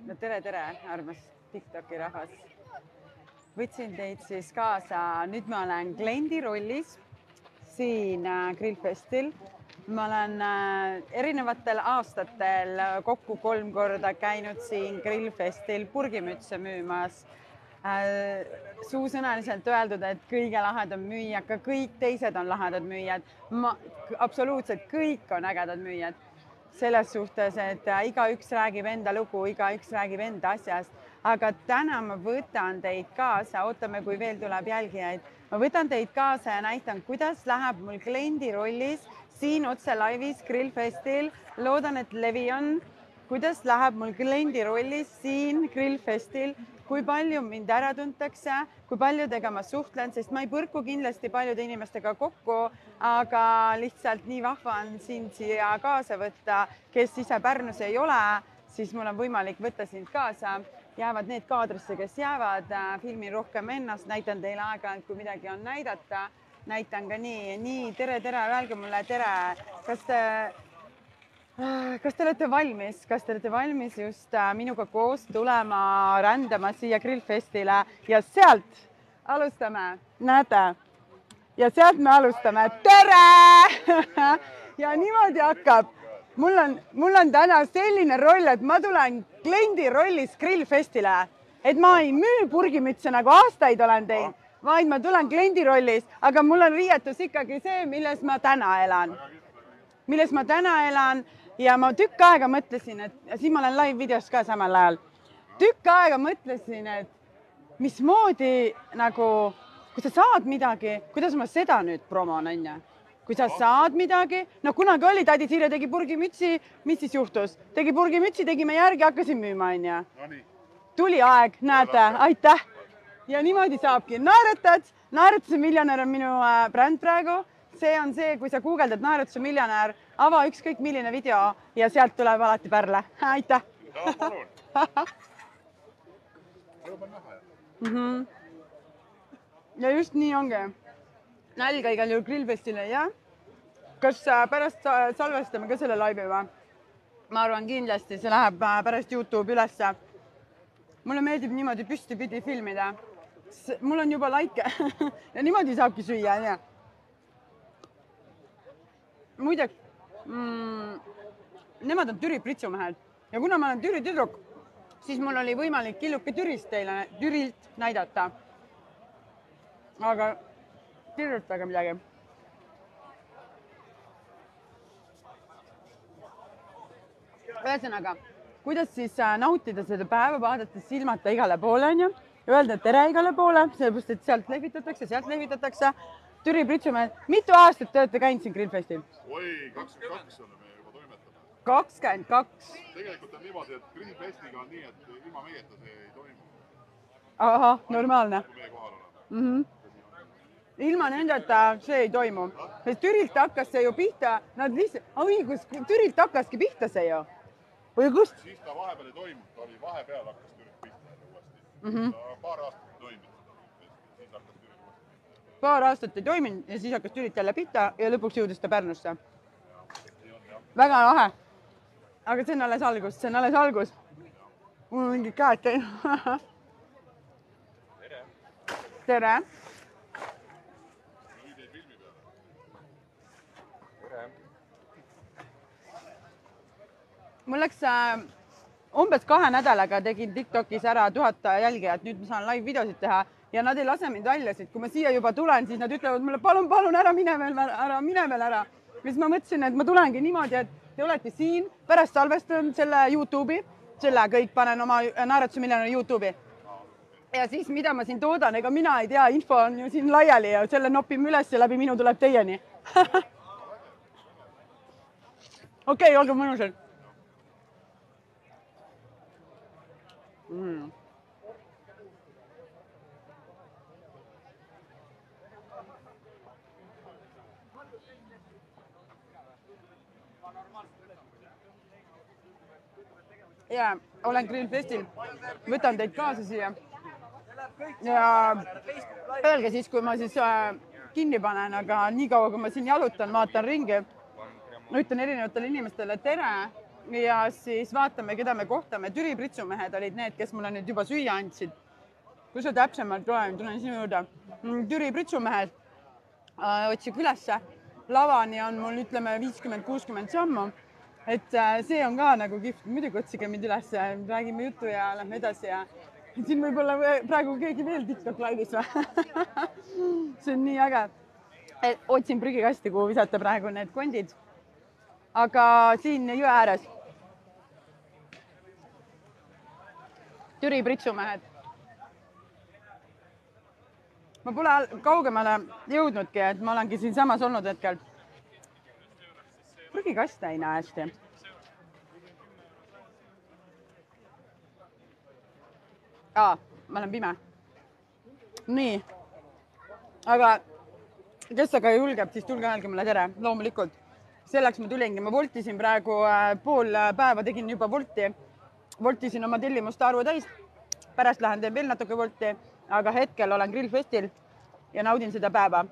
No tere, armas TikToki rahvas. Võtsin teid siis kaasa. Nüüd ma olen kliendi rollis siin Grillfestil. Ma olen erinevatel aastatel kokku 3 korda käinud siin Grillfestil purgimütse müümas. Suusõnaliselt öeldud, et kõige lahedam müüja, ka kõik teised on lahedad müüjad. Absoluutselt kõik on ägedad müüjad. Selles suhtes, et igaüks räägib enda lugu, igaüks räägib enda asjast, aga täna ma võtan teid kaasa, ootame, kui veel tuleb jälgijaid. Ma võtan teid kaasa ja näitan, kuidas läheb mul kliendi rollis siin otse laivis Grillfestil. Loodan, et levi on, kuidas läheb mul kliendi rollis siin Grillfestil, kui palju mind ära tuntakse, kui paljudega ma suhtlen, sest ma ei põrku kindlasti paljude inimestega kokku, aga lihtsalt nii vahva on sind siia kaasa võtta, kes ise Pärnus ei ole, siis mul on võimalik võtta sind kaasa. Jäävad need kaadrisse, kes jäävad, filmin rohkem ennast, näitan teile aeg-ajalt, kui midagi on näidata. Näitan ka nii, tere, öelge mulle tere. Kas te olete valmis? Kas te olete valmis just minuga koos tulema rändama siia Grillfestile ja sealt alustame, näete? Ja sealt me alustame. Tere! Ja niimoodi hakkab. Mul on täna selline roll, et ma tulen kliendi rollis Grillfestile, et ma ei müü purgimütse nagu aastaid olen teinud, vaid ma tulen kliendi rollis, aga mul on riietus ikkagi see, milles ma täna elan. Ja ma tükk aega mõtlesin, et siin ma olen live videos ka samal ajal. Tükk aega mõtlesin, et mismoodi nagu, kui sa saad midagi, kuidas ma seda nüüd promon, on ja? Kui sa saad midagi, no kunagi oli, tädi Siire tegi purgimütsi, mis siis juhtus? Tegi purgimütsi, tegime järgi, hakkasin müüma, on ja? Tuli aeg, näete, aitäh. Ja niimoodi saabki. Naeratuse miljonär on minu bränd praegu. See on see, kui sa guugeldad naeratuse miljonär, ava ükskõik milline video ja sealt tuleb alati pärle. Aitäh! Ja just nii ongi. Nälga igal juhul Grillfestile, jah? Kas pärast salvestame ka selle laivi või? Ma arvan kindlasti, see läheb pärast YouTube ülesse. Mulle meeldib niimoodi püstipidi filmida. Mul on juba laike ja niimoodi saabki süüa, jah? Muide, nemad on Türi pritsumehed ja kuna ma olen Türi tüdruk, siis mul oli võimalik killuke Türilt näidata. Aga kirjutage midagi. Ühesõnaga, kuidas siis nautida seda päeva, vaadates silmata igale poole, on ju? Öelda tere igale poole, sellepärast, et sealt lehvitatakse. Türi pritsumehed, mitu aastat te olete käinud siin Grillfestil? Oi, 22 oleme juba toimetama. 22? Tegelikult on niimoodi, et Grillfestiga on nii, et ilma meieta see ei toimu. Ahah, normaalne. Kui meie kohal oleme. Ilma nendeta see ei toimu. Türilt hakkas see ju pihta, nad lihtsalt, Türilt hakkaski pihta see ju. Või kust? Siis ta vahepeal ei toimunud, ta oli vahepeal hakkas Türilt pihta uuesti. Paar aastat ei toiminud. Paar aastat ei toiminud ja siis hakkas Türilt jälle pihta ja lõpuks jõudis ta Pärnusse. Väga lahe. Aga see on alles algus. Mul on mingid käed käinud. Tere. Mul läks umbes 2 nädalaga tegin TikTokis ära 1000 jälgijat, nüüd ma saan live videosid teha ja nad ei lase mind välja, sest kui ma siia juba tulen, siis nad ütlevad mulle, palun, ära mine veel ära. Siis ma mõtlesin, et ma tulengi niimoodi, et te olete siin, pärast salvestan selle YouTube'i, selle kõik panen oma naeratuse miljonäri YouTube'i. Ja siis mida ma siin toodan, ega mina ei tea, info on ju siin laiali ja selle nopime üles ja läbi minu tuleb teieni. Okei, olge mõnusad. Ja olen Grillfestil, võtan teid kaasa siia ja öelge siis, kui ma siis kinni panen, aga nii kaua, kui ma siin jalutan, vaatan ringi, ütlen erinevatele inimestele tere ja siis vaatame, keda me kohtame. Türi pritsumehed olid need, kes mulle nüüd juba süüa andsid. Kui sa täpsemalt loen, tulen sinu juurde. Türi pritsumehed otsib ülesse. Lavani on mul ütleme 50-60 sammu. Et see on ka nagu kihvt. Muidugi otsige mind ülesse, räägime juttu ja lähme edasi ja siin võib-olla praegu keegi veel TikTok laivis või? See on nii äge. Otsin prügikasti, kuhu visata praegu need kondid. Aga siin jõe ääres. Türi pritsumehed. Ma pole kaugemale jõudnudki, et ma olengi siin samas olnud hetkel. Prügikaste ei näe hästi. Ma olen pime. Nii. Aga kes aga julgeb, siis tulge öelge mulle tere, loomulikult. Selleks ma tulingi. Ma voltisin praegu pool päeva, tegin juba volti. Voltisin oma tellimuste arvu täis. Pärast lähen teen veel natuke volti, aga hetkel olen grillfestil ja naudin seda päeva.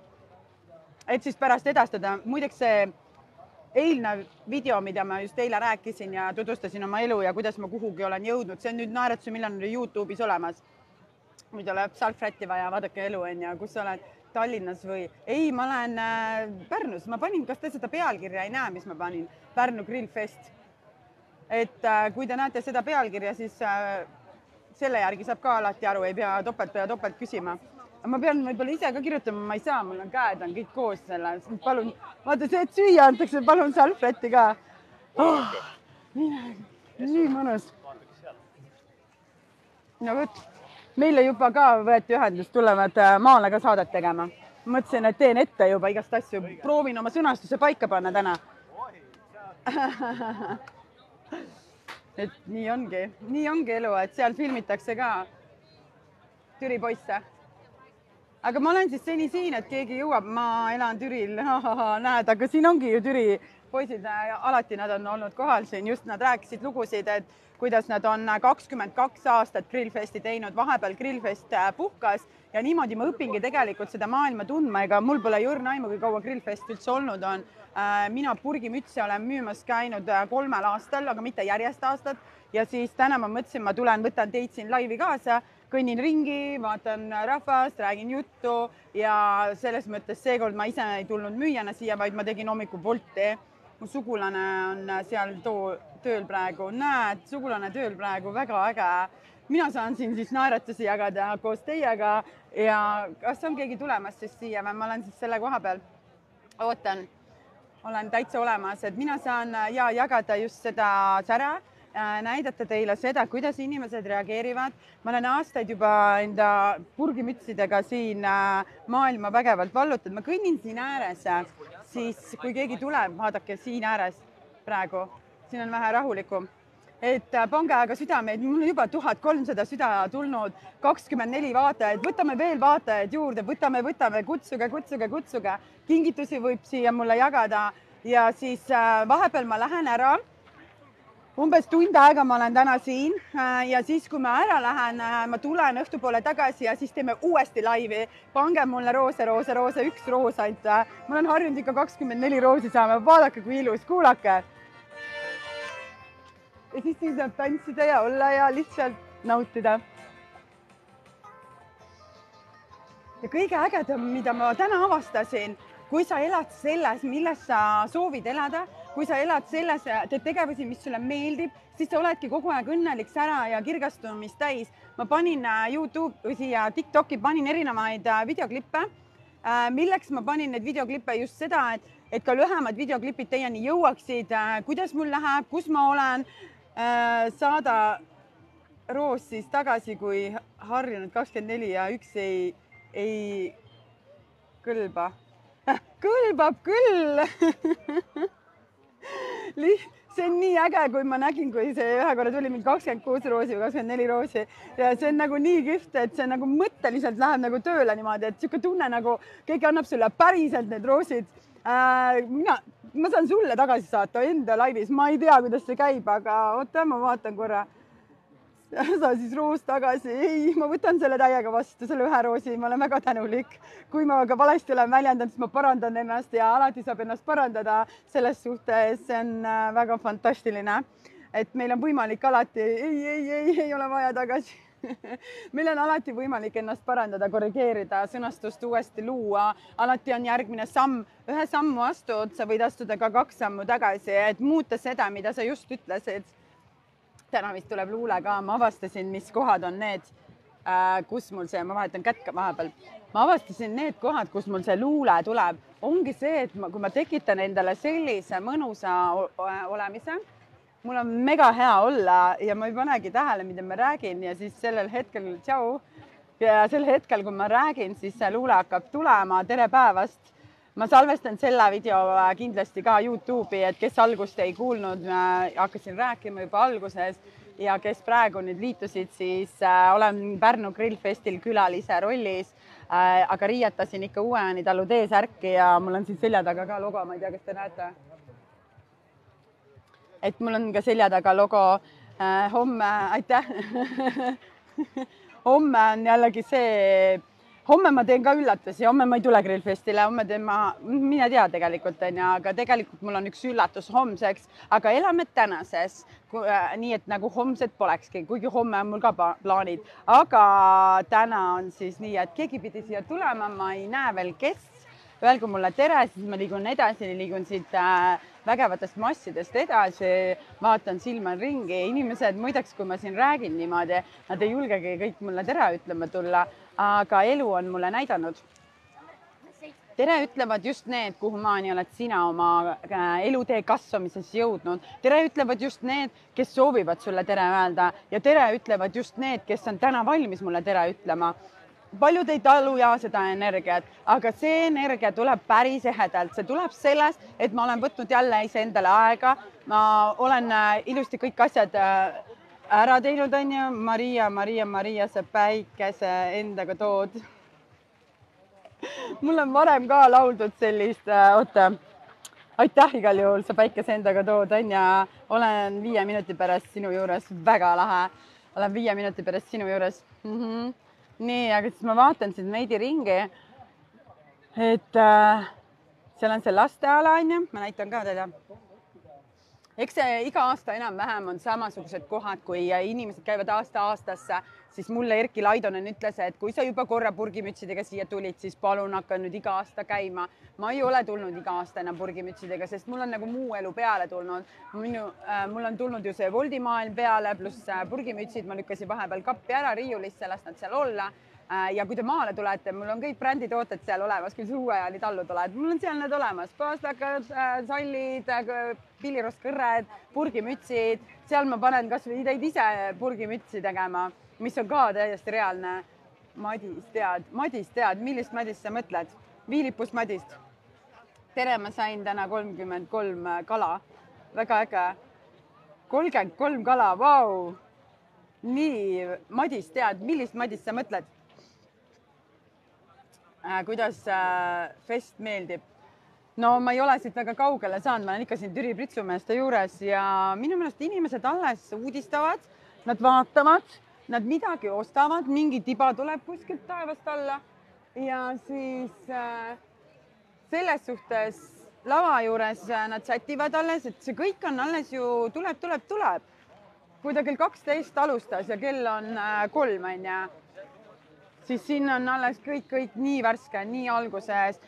Et siis pärast edastada. Muideks see eilne video, mida ma just eile rääkisin ja tutvustasin oma elu ja kuidas ma kuhugi olen jõudnud. See on nüüd Naeratuse miljonäri YouTube'is olemas. Muidu läheb salfrätti vaja, vaadake elu on ja kus sa oled Tallinnas või... Ei, ma olen Pärnus. Ma panin, kas te seda pealkirja ei näe, mis ma panin? Pärnu Grillfest. Et kui te näete seda pealkirja, siis selle järgi saab ka alati aru, ei pea topelt küsima. Ma pean võib-olla ise ka kirjutama, ma ei saa, mul on käed on kõik koos selle. Palun, vaata see, et süüa antakse, palun salfrätti ka. Nii mõnus. No võt, meile juba ka võeti ühendust, tulevad maale ka saadet tegema. Mõtlesin, et teen ette juba igast asju. Proovin oma sõnastuse paika panna täna. Et nii ongi elu, et seal filmitakse ka Türi poisse. Aga ma olen siis seni siin, et keegi jõuab, ma elan Türil, näed, aga siin ongi ju Türi poisid, alati nad on olnud kohal siin, just nad rääkisid lugusid, et kuidas nad on 22 aastat grillfesti teinud, vahepeal grillfest puhkas ja niimoodi ma õpingi tegelikult seda maailma tundma, ega mul pole jõrna aimu, kui kaua grillfest üldse olnud on. Mina purgimütsi olen müümas käinud 3 aastal, aga mitte järjest aastat ja siis täna ma mõtlesin, ma tulen, võtan teid siin laivi kaasa, kõnnin ringi, vaatan rahvast, räägin juttu ja selles mõttes seekord ma ise ei tulnud müüjana siia, vaid ma tegin hommikul volti. Mu sugulane on seal tööl praegu. Näed, sugulane tööl praegu, väga äge. Mina saan siin siis naeratusi jagada koos teiega ja kas on keegi tulemas siis siia või ma olen siis selle koha peal? Ootan, olen täitsa olemas, et mina saan jagada just seda sära, näidata teile seda, kuidas inimesed reageerivad. Ma olen aastaid juba enda purgimütsidega siin maailma vägevalt vallutanud. Ma kõnnin siin ääres, siis kui keegi tuleb, vaadake siin ääres praegu. Siin on vähe rahulikum. Et pange aga südameid, mul on juba 1300 süda tulnud, 24 vaatajad. Võtame veel vaatajaid juurde, võtame, kutsuge. Kingitusi võib siia mulle jagada ja siis vahepeal ma lähen ära. Umbes tund aega ma olen täna siin ja siis, kui ma ära lähen, ma tulen õhtupoole tagasi ja siis teeme uuesti laivi. Pange mulle roose, üks roos ainult. Ma olen harjunud ikka 24 roosi saama. Vaadake, kui ilus, kuulake. Ja siis saab tantsida ja olla ja lihtsalt nautida. Ja kõige ägedam, mida ma täna avastasin, kui sa elad selles, milles sa soovid elada, kui sa elad selles, teed tegevusi, mis sulle meeldib, siis sa oledki kogu aeg õnnelik sära ja kirgastumist täis. Ma panin YouTube'i ja TikTok'i, panin erinevaid videoklippe. Milleks ma panin need videoklippe just seda, et ka lühemad videoklipid teieni jõuaksid, kuidas mul läheb, kus ma olen, saada roos siis tagasi, kui harjunud 24 ja üks ei kõlba. Kõlbab küll! See on nii äge, kui ma nägin, kui see ühe korra tuli mind 26 roosi või 24 roosi ja see on nagu nii kihvt, et see nagu mõtteliselt läheb nagu tööle niimoodi, et siuke tunne nagu keegi annab sulle päriselt need roosid. Ma saan sulle tagasi saata enda laivis, ma ei tea, kuidas see käib, aga oota, ma vaatan korra. sa siis roos tagasi, ei, ma võtan selle täiega vastu, selle ühe roosi, ma olen väga tänulik. Kui ma ka valesti olen väljendanud, siis ma parandan ennast ja alati saab ennast parandada selles suhtes, see on väga fantastiline, et meil on võimalik alati, ei ole vaja tagasi. Meil on alati võimalik ennast parandada, korrigeerida, sõnastust uuesti luua, alati on järgmine samm, ühe sammu astud, sa võid astuda ka 2 sammu tagasi, et muuta seda, mida sa just ütlesid. Täna vist tuleb luule ka, ma avastasin, mis kohad on need, kus mul see, ma vahetan kätt vahepeal, ma avastasin need kohad, kus mul see luule tuleb, ongi see, et kui ma tekitan endale sellise mõnusa olemise, mul on mega hea olla ja ma ei panegi tähele, mida ma räägin ja siis sellel hetkel, tšau, ja sel hetkel, kui ma räägin, siis see luule hakkab tulema, tere päevast. Ma salvestan selle video kindlasti ka YouTube'i, et kes algust ei kuulnud, hakkasin rääkima juba alguses ja kes praegu nüüd liitusid, siis olen Pärnu Grillfestil külalise rollis, aga riietasin ikka Uue-Jaani talu T-särki ja mul on siin selja taga ka logo, ma ei tea, kas te näete. Et mul on ka selja taga logo, homme, aitäh, homme on jällegi see, homme ma teen ka üllatusi, homme ma ei tule Grillfestile, homme teen ma, mina tea tegelikult, aga tegelikult mul on üks üllatus homseks, aga elame tänases, nii et nagu homsed polekski, kuigi homme on mul ka plaanid, aga täna on siis nii, et keegi pidi siia tulema, ma ei näe veel, kes. Öelgu mulle tere, siis ma liigun edasi, liigun siit vägevatest massidest edasi, vaatan silma ringi. Inimesed, muideks, kui ma siin räägin niimoodi, nad ei julgegi kõik mulle tere ütlema tulla, aga elu on mulle näidanud. Tere ütlevad just need, kuhu maani oled sina oma elutee kasvamises jõudnud. Tere ütlevad just need, kes soovivad sulle tere öelda ja tere ütlevad just need, kes on täna valmis mulle tere ütlema. Paljud ei talu ja seda energiat, aga see energia tuleb päris ehedalt. See tuleb sellest, et ma olen võtnud jälle iseendale aega. Ma olen ilusti kõik asjad ära teinud, on ju. Maria, sa päikese endaga tood. Mul on varem ka lauldud sellist, oota, aitäh igal juhul, sa päikese endaga tood, on ja olen 5 minuti pärast sinu juures, väga lahe. Olen 5 minuti pärast sinu juures. Nii, aga siis ma vaatan siin veidi ringi, et seal on see lasteala, on ju, ma näitan ka teile. Eks see iga aasta enam-vähem on samasugused kohad, kui inimesed käivad aasta-aastasse, siis mulle Erki Laidonen ütles, et kui sa juba korra purgimütsidega siia tulid, siis palun hakka nüüd iga aasta käima. Ma ei ole tulnud iga aasta enam purgimütsidega, sest mul on nagu muu elu peale tulnud. Mul on tulnud ju see voldimaailm peale, pluss purgimütsid, ma lükkasin vahepeal kappi ära riiulisse, las nad seal olla. Ja kui te maale tulete, mul on kõik bränditooted seal olemas, kui see Uue-Jaani tallu tuled, mul on seal need olemas, paastakad, sallid, pillirostkõrred, purgimütsid, seal ma panen kas või teid ise purgimütsi tegema, mis on ka täiesti reaalne. Madis tead, millist Madist sa mõtled? Viilipust Madist. Tere, ma sain täna 33 kala, väga äge. 33 kala, vau! Nii, Madis tead, millist Madist sa mõtled? Kuidas fest meeldib? No ma ei ole siit väga kaugele saanud, ma olen ikka siin Türi Pritsumeeste juures ja minu meelest inimesed alles uudistavad, nad vaatavad, nad midagi ostavad, mingi tiba tuleb kuskilt taevast alla ja siis selles suhtes lava juures nad sätivad alles, et see kõik on alles ju tuleb. Kui ta kell 12 alustas ja kell on 3, on ja siis siin on alles kõik nii värske, nii alguses.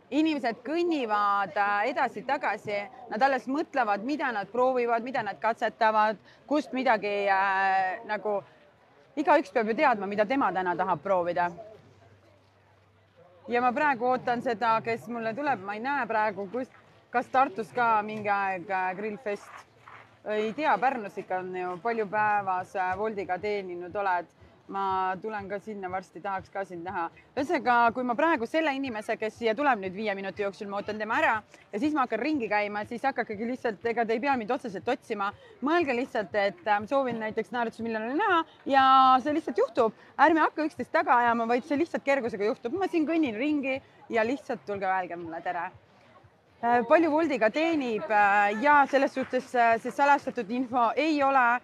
Inimesed kõnnivad edasi-tagasi, nad alles mõtlevad, mida nad proovivad, mida nad katsetavad, kust midagi nagu igaüks peab ju teadma, mida tema täna tahab proovida. Ja ma praegu ootan seda, kes mulle tuleb, ma ei näe praegu, kas Tartus ka mingi aeg Grillfest. Ei tea, Pärnus ikka on ju palju päevas Voldiga teeninud oled. Ma tulen ka sinna varsti, tahaks ka sind näha. Ühesõnaga, kui ma praegu selle inimese, kes siia tuleb nüüd 5 minuti jooksul, ma ootan tema ära ja siis ma hakkan ringi käima, siis hakkagi lihtsalt, ega te ei pea mind otseselt otsima. Mõelge lihtsalt, et soovin näiteks naerutusmiljonile näha ja see lihtsalt juhtub. Ärme hakka üksteist taga ajama, vaid see lihtsalt kergusega juhtub. Ma siin kõnnin ringi ja lihtsalt tulge öelge mulle tere. palju Woltiga teenib ja selles suhtes see salastatud info ei ole.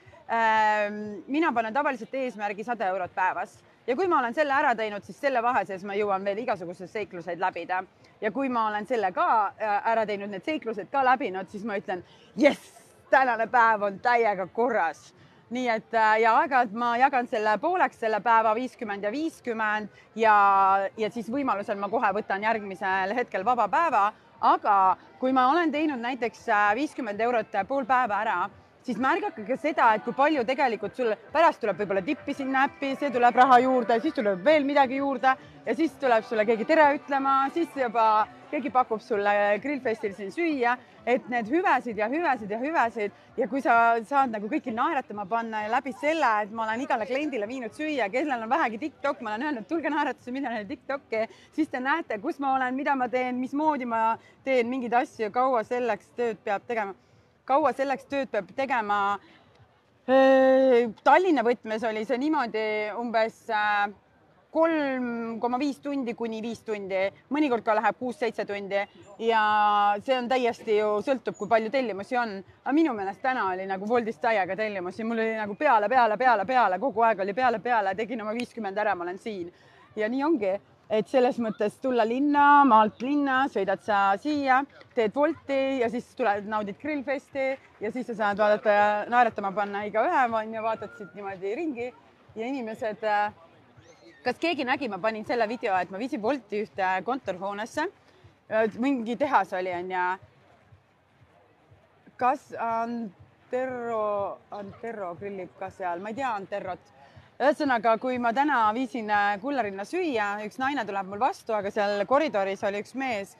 Mina panen tavaliselt eesmärgi 100 eurot päevas ja kui ma olen selle ära teinud, siis selle vahe sees ma jõuan veel igasuguseid seikluseid läbida. Ja kui ma olen selle ka ära teinud, need seiklused ka läbinud, siis ma ütlen, jess, tänane päev on täiega korras. Nii et ja aeg-ajalt ma jagan selle pooleks, selle päeva 50 ja 50 ja siis võimalusel ma kohe võtan järgmisel hetkel vaba päeva. Aga kui ma olen teinud näiteks 50 eurot pool päeva ära, siis märgake ka seda, et kui palju tegelikult sul pärast tuleb võib-olla tippi sinna äppi, see tuleb raha juurde, siis tuleb veel midagi juurde ja siis tuleb sulle keegi tere ütlema, siis juba keegi pakub sulle grillfestil siin süüa, et need hüvesid ja hüvesid ja hüvesid ja kui sa saad nagu kõiki naeratama panna ja läbi selle, et ma olen igale kliendile viinud süüa, kellel on vähegi TikTok, ma olen öelnud, tulge naeratuse, mida neile TikTok'i, siis te näete, kus ma olen, mida ma teen, mismoodi ma teen mingeid asju, kaua selleks tööd peab tegema. Kaua selleks tööd peab tegema. Tallinna võtmes oli see niimoodi umbes 3,5 tundi kuni 5 tundi, mõnikord ka läheb 6-7 tundi ja see on täiesti ju sõltub, kui palju tellimusi on. Aga minu meelest täna oli nagu Woltist täiega tellimusi, mul oli nagu peale, kogu aeg oli peale, tegin oma 50 ära, ma olen siin ja nii ongi. Et selles mõttes tulla linna, maalt linna, sõidad sa siia, teed Wolti ja siis tuled, naudid grillfesti ja siis sa saad vaadata ja naeratama panna iga ühe ja vaatad siit niimoodi ringi ja inimesed, kas keegi nägi, ma panin selle video, et ma viisin Wolti ühte kontorhoonesse, mingi tehas oli ja kas Antero grillib ka seal, ma ei tea Anterot. Ühesõnaga, kui ma täna viisin Kullarinna süüa, üks naine tuleb mul vastu, aga seal koridoris oli üks mees,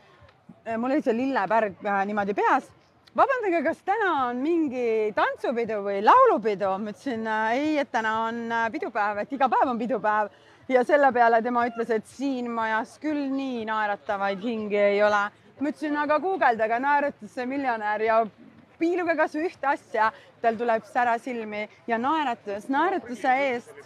mul oli see lillepärg niimoodi peas. Vabandage, kas täna on mingi tantsupidu või laulupidu? Ma ütlesin, ei, et täna on pidupäev, et iga päev on pidupäev. Ja selle peale tema ütles, et siin majas küll nii naeratavaid hingi ei ole. Ma ütlesin, aga guugeldage naeratusse miljonär ja piiluge kas ühte asja, tal tuleb sära silmi ja naeratuse eest.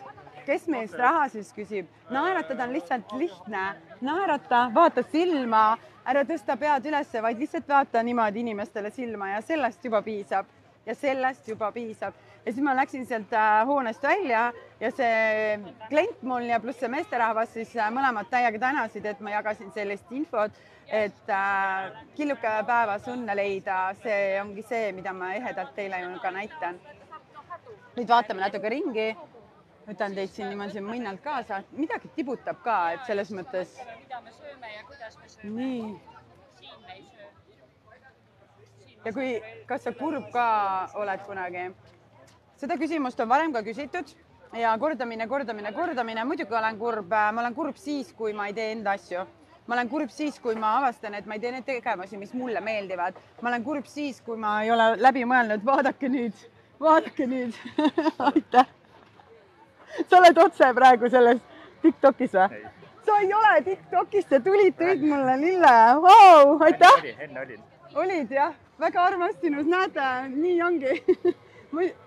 Kes meist raha siis küsib? Naeratada on lihtsalt lihtne. Naerata, vaata silma, ära tõsta pead üles, vaid lihtsalt vaata niimoodi inimestele silma ja sellest juba piisab. Ja siis ma läksin sealt hoonest välja ja see klient mul ja pluss see meesterahvas siis mõlemad täiega tänasid, et ma jagasin sellist infot, et killuke päevas õnne leida, see ongi see, mida ma ehedalt teile ju ka näitan. Nüüd vaatame natuke ringi. Võtan teid siin niimoodi mõnnalt kaasa. Midagi tibutab ka, et selles mõttes... Mida me sööme ja kuidas me sööme. Nii. Siin me ei söö. Ja kui, kas sa kurb ka oled kunagi? Seda küsimust on varem ka küsitud ja kordamine. Muidugi olen kurb. Ma olen kurb siis, kui ma ei tee enda asju. Ma olen kurb siis, kui ma avastan, et ma ei tee need tegevusi, mis mulle meeldivad. Ma olen kurb siis, kui ma ei ole läbi mõelnud. Vaadake nüüd. Aitäh. Sa oled otse praegu selles TikTokis või? Sa ei ole TikTokis, sa tulid, tõid mulle lille. Vau, aitäh! Enne olin. Olid jah, väga armas sinus, näete, nii ongi.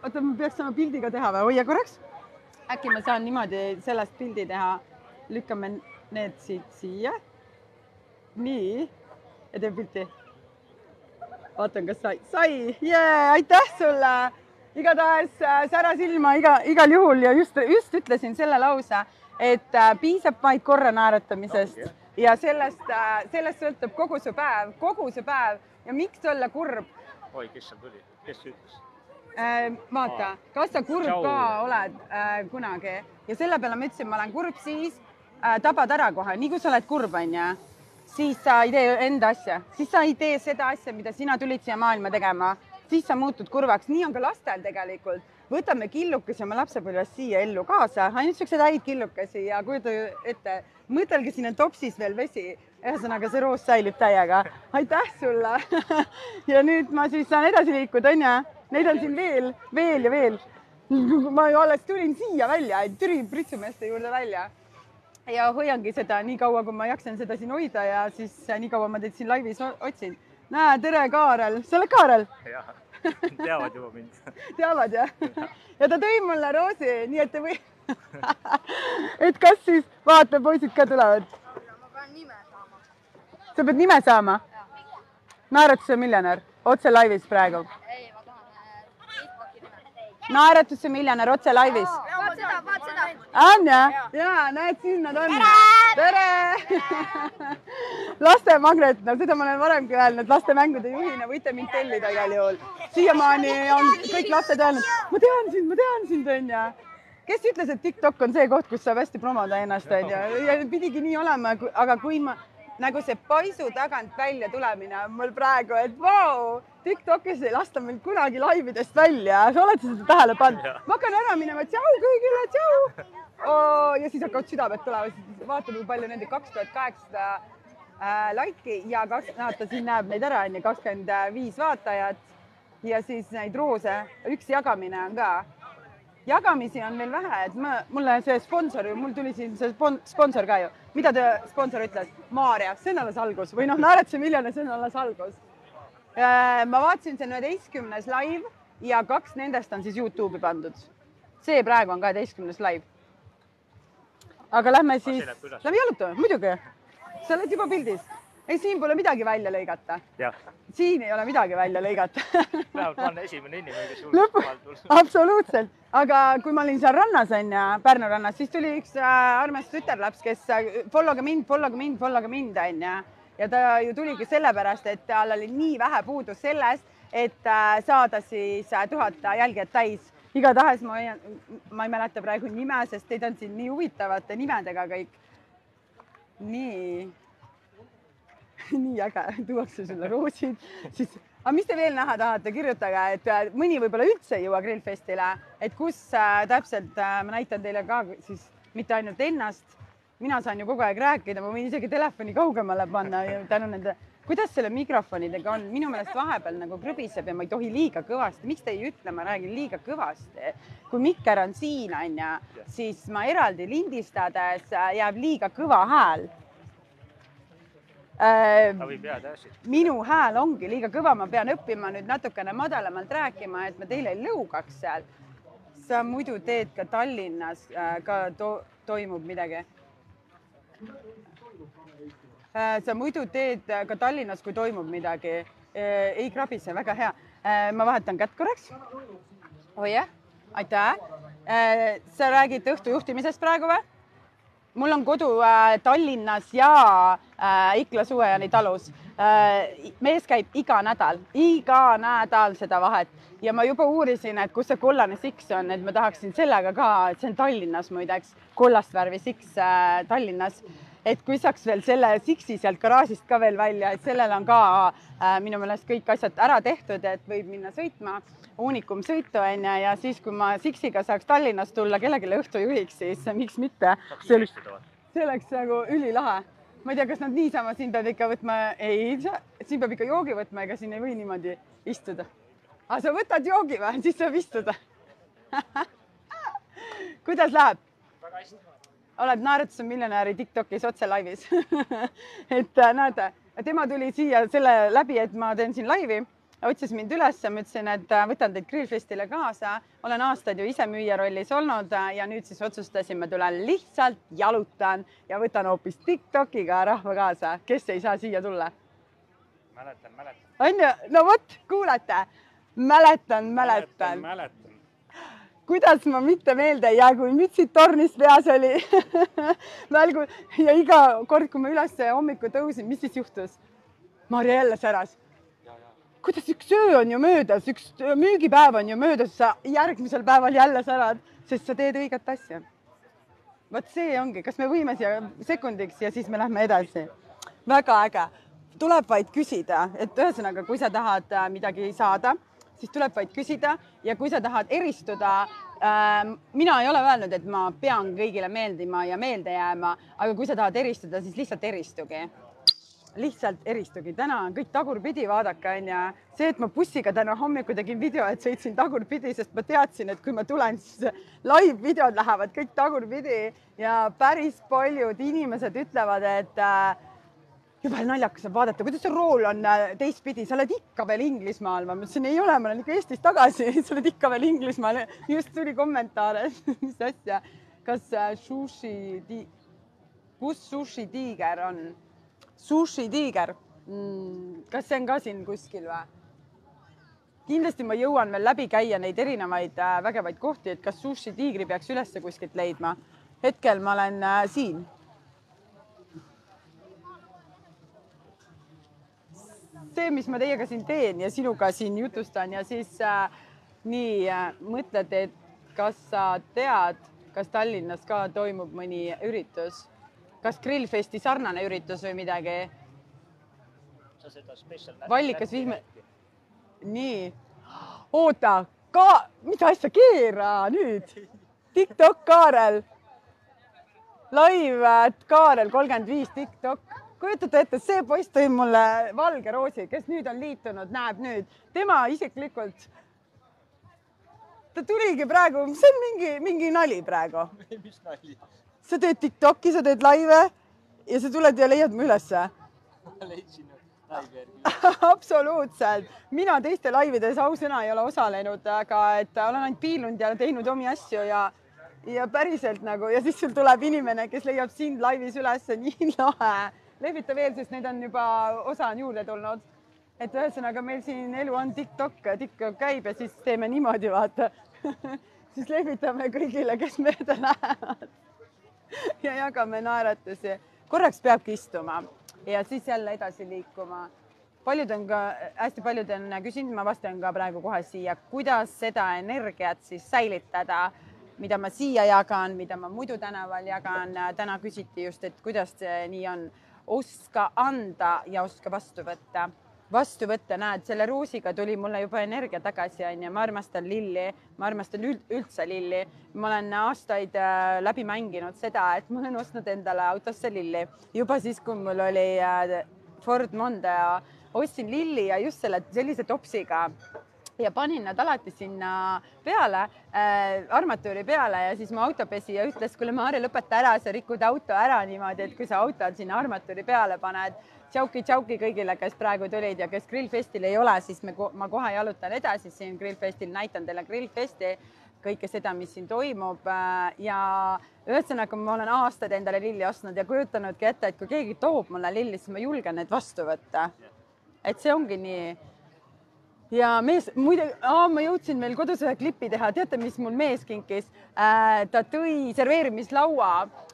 Oota, ma peaks sama pildiga teha või? Hoia korraks. Äkki ma saan niimoodi sellest pildi teha. Lükkame need siia. Nii. Ja teeb pilti. Vaatan, kas sai. Aitäh sulle! Igatahes sära silma igal juhul ja just ütlesin selle lause, et piisab vaid korra naeratamisest ja sellest sõltub kogu see päev ja miks olla kurb? Oi, kes seal tuli? Kes ütles? Vaata, kas sa kurb ka oled kunagi ja selle peale ma ütlesin, ma olen kurb siis, tabad ära kohe, nii kui sa oled kurb, siis sa ei tee enda asja, siis sa ei tee seda asja, mida sina tulid siia maailma tegema. Siis sa muutud kurvaks. Nii on ka lastel tegelikult. Võtame killukesi oma lapsepõlvest siia ellu kaasa. Ainult siuksed häid killukesi ja kujuta ette, mõtelge siin on topsis veel vesi. Ühesõnaga see roos säilib täiega. Aitäh sulle. Ja nüüd ma siis saan edasi liikuda, on ja? Neid on siin veel. Ma alles tulin siia välja, Türi pritsumeeste juurde välja. Ja hoiangi seda nii kaua, kui ma jaksan seda siin hoida ja siis nii kaua ma teid siin laivis otsin. Näe, tere Kaarel. Sa oled Kaarel? Jah, teavad juba mind. Teavad, jah? Ja ta tõi mulle roosi, nii et te või... Et kas siis, vaata, poisid ka tulevad. Ma pean nime saama. Sa pead nime saama? Naeratuse miljonär, otse laivis praegu. Ei, ma tahan Facebooki nime. Naeratuse miljonär, otse laivis. Vaat seda. On jah? Jaa, näed, siin nad on. Tere! Lastemagnet, no seda ma olen varemgi öelnud, lastemängude juhina võite mind tellida igal juhul. Siiamaani on kõik lapsed öelnud, ma tean sind, on ja. Kes ütles, et TikTok on see koht, kus saab hästi promoda ennast, on ja pidigi nii olema, aga kui ma nagu see paisu tagant välja tulemine on mul praegu, et vau, TikTokis ei lasta meil kunagi laividest välja. Sa oled seda tähele pannud? Ma hakkan ära minema, tšau kõigile, tšau! Ja siis hakkavad südamed tulema, siis vaatame, kui palju nende 2800 laiki ja siin näeb neid ära, 25 vaatajat ja siis neid roose, üks jagamine on ka. Jagamisi on meil vähe, et mulle see sponsor, mul tuli siin see sponsor ka ju. Mida te sponsor ütles? Maaria, see on alles algus või Naeratuse miljonär, see on alles algus. Ma vaatasin, see on 11. live ja 2 nendest on siis YouTube'i pandud. See praegu on 12. live. Aga lähme siis, lähme jalutame, muidugi. Sa oled juba pildis. Ei, siin pole midagi välja lõigata. Siin ei ole midagi välja lõigata. Vähemalt ma olen esimene inimene, kes julgeb. Absoluutselt. Aga kui ma olin seal rannas, Pärnu rannas, siis tuli üks armas tütarlaps, kes followge mind, ja ta ju tuligi sellepärast, et tal oli nii vähe puudu sellest, et saada siis 1000 jälgijat täis. Igatahes ma ei mäleta praegu nime, sest teid on siin nii huvitavate nimedega kõik. Nii äge, tuuakse sulle roosid. Aga mis te veel näha tahate, kirjutage, et mõni võib-olla üldse ei jõua grillfestile, et kus täpselt ma näitan teile ka siis mitte ainult ennast. Mina saan ju kogu aeg rääkida, ma võin isegi telefoni kaugemale panna tänu nende. Kuidas selle mikrofonidega on? Minu meelest vahepeal nagu krõbiseb ja ma ei tohi liiga kõvasti. Miks te ei ütle, ma räägin liiga kõvasti? Kui mikker on siin, siis ma eraldi lindistades jääb liiga kõva hääl. Minu hääl ongi liiga kõva, ma pean õppima nüüd natukene madalamalt rääkima, et ma teile ei lõugaks seal. Sa muidu teed ka Tallinnas, ka toimub midagi. Sa muidu teed ka Tallinnas, kui toimub midagi. Ei krabise, väga hea. Ma vahetan kätt korraks. Oi jah, aitäh. Sa räägid õhtu juhtimisest praegu või? Mul on kodu Tallinnas ja Ikla Suvejani talus. Mees käib iga nädal seda vahet. Ja ma juba uurisin, et kus see kollane siks on, et ma tahaksin sellega ka, et see on Tallinnas muideks, kollast värvi siks Tallinnas. Et kui saaks veel selle siksi sealt garaažist ka veel välja, et sellel on ka minu meelest kõik asjad ära tehtud, et võib minna sõitma, uunikum sõitu ja siis, kui ma siksiga saaks Tallinnas tulla kellelegi õhtujuhiks, siis miks mitte. See oleks nagu ülilahe. Ma ei tea, kas nad niisama siin peab ikka võtma, ei, siin peab ikka joogi võtma, ega siin ei või niimoodi istuda. Aga sa võtad joogi või, siis saab istuda. Kuidas läheb? Väga hästi. Oled Naeratuse miljonäri TikTokis otse laivis. Et näete, tema tuli siia selle läbi, et ma teen siin laivi. Otsis mind üles, ma ütlesin, et võtan teid grillfestile kaasa. Olen aastaid ju ise müüja rollis olnud ja nüüd siis otsustasin, ma tulen lihtsalt jalutan ja võtan hoopis TikTokiga rahva kaasa. Kes ei saa siia tulla? Mäletan. On ju? No võt, kuulete. Mäletan. Kuidas ma mitte meelde ei jää, kui mütsid tornis peas oli. Ja iga kord, kui ma üles hommiku tõusin, mis siis juhtus? Marja jälle säras. Kuidas üks öö on ju möödas, üks müügipäev on ju möödas, sa järgmisel päeval jälle särad, sest sa teed õiget asja. Vaat see ongi, kas me võime siia sekundiks ja siis me lähme edasi. Väga äge. Tuleb vaid küsida, et ühesõnaga, kui sa tahad midagi saada, siis tuleb vaid küsida ja kui sa tahad eristuda, mina ei ole öelnud, et ma pean kõigile meeldima ja meelde jääma, aga kui sa tahad eristuda, siis lihtsalt eristugi. Lihtsalt eristugi. Täna on kõik tagurpidi, vaadake, ja see, et ma bussiga täna hommiku tegin video, et sõitsin tagurpidi, sest ma teadsin, et kui ma tulen, siis live-videod lähevad kõik tagurpidi ja päris paljud inimesed ütlevad, et juba naljakas on vaadata, kuidas see rool on teistpidi, sa oled ikka veel Inglismaal. Ma mõtlesin, ei ole, ma olen ikka Eestis tagasi, sa oled ikka veel Inglismaal. Just tuli kommentaare, mis asja. Kas kus sushi tiiger on? Sushi tiiger. Kas see on ka siin kuskil või? Kindlasti ma jõuan veel läbi käia neid erinevaid vägevaid kohti, et kas Sushi Tiigri peaks ülesse kuskilt leidma. Hetkel ma olen siin. See, mis ma teiega siin teen ja sinuga siin jutustan ja siis nii mõtled, et kas sa tead, kas Tallinnas ka toimub mõni üritus? Kas Grillfesti sarnane üritus või midagi? Vallikas vihme... Nii. Oota, mida asja keera nüüd? TikTok Kaarel. Live Kaarel 35 TikTok. Kujutate ette, see poiss tõi mulle valge roosi, kes nüüd on liitunud, näeb nüüd. Tema isiklikult. Ta tuligi praegu, see on mingi nali praegu. Mis nali? Sa teed TikToki, sa teed laive ja sa tuled ja leiad mu ülesse. Ma leidsin laivi järgi. Absoluutselt. Mina teiste laivides ausõna ei ole osalenud, aga et olen ainult piilunud ja teinud omi asju ja päriselt nagu ja siis sul tuleb inimene, kes leiab sind laivis üles, nii lahe. Lehvita veel, sest need on juba osa on juurde tulnud. Et ühesõnaga meil siin elu on TikTok käib ja siis teeme niimoodi, vaata. Siis lehvitame kõigile, kes mööda lähevad ja jagame naeratusi. Korraks peabki istuma ja siis jälle edasi liikuma. Hästi paljud on küsinud, ma vastan ka praegu kohe siia, kuidas seda energiat siis säilitada, mida ma siia jagan, mida ma muidu tänaval jagan. Täna küsiti just, et kuidas see nii on. Oska anda ja oska vastu võtta. Vastu võtta, näed, selle roosiga tuli mulle juba energia tagasi. Ma armastan lilli, ma armastan üldse lilli. Ma olen aastaid läbi mänginud seda, et ma olen ostnud endale autosse lilli. Juba siis, kui mul oli Ford Mondeo, ostsin lilli ja just sellise topsiga ja panin nad alati sinna peale, armatuuri peale ja siis mu autopesi ja ütles, kuule Maarja, lõpeta ära, sa rikud auto ära niimoodi, et kui sa autod sinna armatuuri peale paned, tšauki kõigile, kes praegu tulid ja kes Grillfestil ei ole, siis ma kohe jalutan edasi siin Grillfestil, näitan teile Grillfesti, kõike seda, mis siin toimub ja ühesõnaga ma olen aastaid endale lilli ostnud ja kujutanudki ette, et kui keegi toob mulle lilli, siis ma julgen need vastu võtta. Et see ongi nii. Ja mees, muide, ma jõudsin veel kodus ühe klipi teha. Teate, mis mul mees kinkis? Ta tõi serveerimislaua,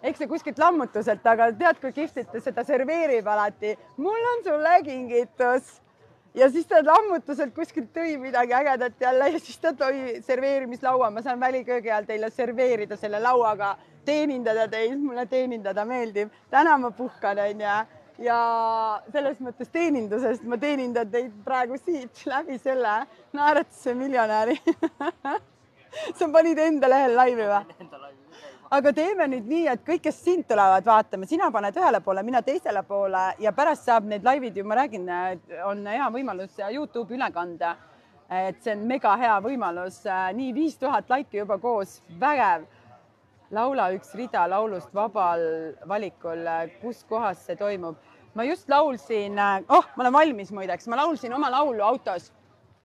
eks see kuskilt lammutuselt, aga tead, kui kihvtit seda serveerib alati. Mul on sulle kingitus. Ja siis ta lammutuselt kuskilt tõi midagi ägedat jälle ja siis ta tõi serveerimislaua. Ma saan väliköögi all teile serveerida selle lauaga, teenindada teid, mulle teenindada meeldib. Täna ma puhkan, ja selles mõttes teenindusest ma teenindan teid praegu siit läbi selle naeratuse miljonäri. Sa panid enda lehel laivi või? Aga teeme nüüd nii, et kõik, kes sind tulevad vaatama, sina paned ühele poole, mina teisele poole ja pärast saab need laivid ju, ma räägin, on hea võimalus YouTube üle kanda. Et see on mega hea võimalus. Nii 5000 laiki juba koos, vägev. Laula üks rida laulust vabal valikul, kus kohas see toimub. Ma just laulsin, ma olen valmis muideks, ma laulsin oma laulu autos.